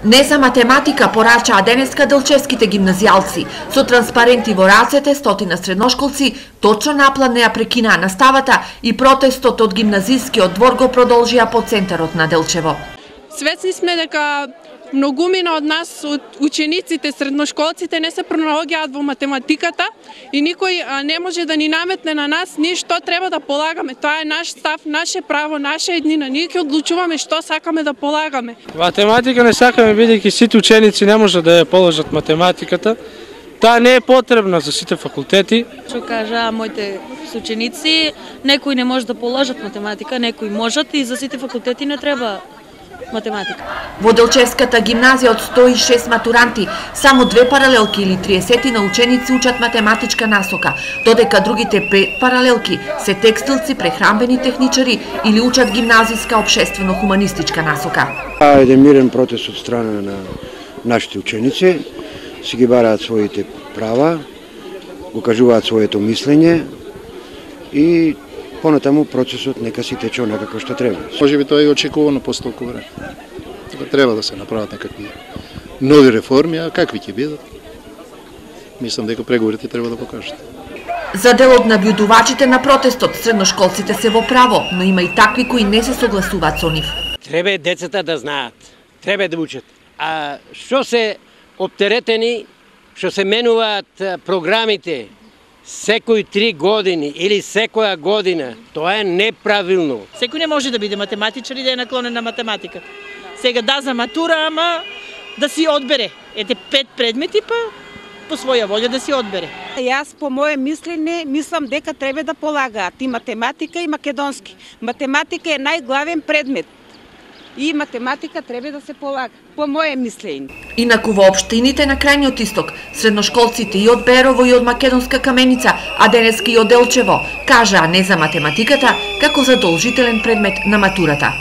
Не за математика порачаа денеска делчевските гимназијалци. Со транспаренти во рацете, стотина средношколци точно наплан не ја прекинаа наставата и протестот од гимназискиот двор го продолжија по центарот на Делчево. Свесни сме дека многумина од нас, од учениците, средношколците не се пронаоѓаат во математиката и никој не може да ни наметне на нас ние што треба да полагаме. Тоа е наш став, наше право, наша еднина. Ние ќе одлучуваме што сакаме да полагаме. Математика не сакаме, бидејќи сите ученици не можат да ја положат математиката. Таа не е потребна за сите факултети. Што кажаа моите ученици, некои не може да положат математика, некои можат и за сите факултети не треба математика. Во Делчевската гимназија од 106 матуранти, само 2 паралелки или 30 на ученици учат математичка насока, додека другите 5 паралелки се текстилци, прехранбени техничари или учат гимназиска општествено-хуманистичка насока. Еден мирен протест од страна на нашите ученици, си ги бараат своите права, го кажуваат своето мислење и понатаму процесот нека си тече онака како што треба. Може би тоа е очекувано по толку време. Треба да се направат некакви нови реформи, а какви ќе бидат? Мислам дека преговорите треба да покажат. За дел од набљудувачите на протестот, средношколците се во право, но има и такви кои не се согласуваат со нив. Треба децата да знаат, треба да учат. А што се оптеретени, што се менуваат програмите, секои 3 години или секоја година, тоа е неправилно. Секој не може да биде математичар и да е наклонен на математика. Сега да за матура, ама да си одбере. Ете 5 предмети, па по своја волја да си одбере. Јас по моје мислење мислам дека треба да полагаат и математика и македонски. Математика е најглавен предмет. И математика треба да се полага, по моје мислење. Инаку во општините на крајниот исток, средношколците и од Берово и од Македонска Каменица, а денеска и од Делчево, кажаа не за математиката како задолжителен предмет на матурата.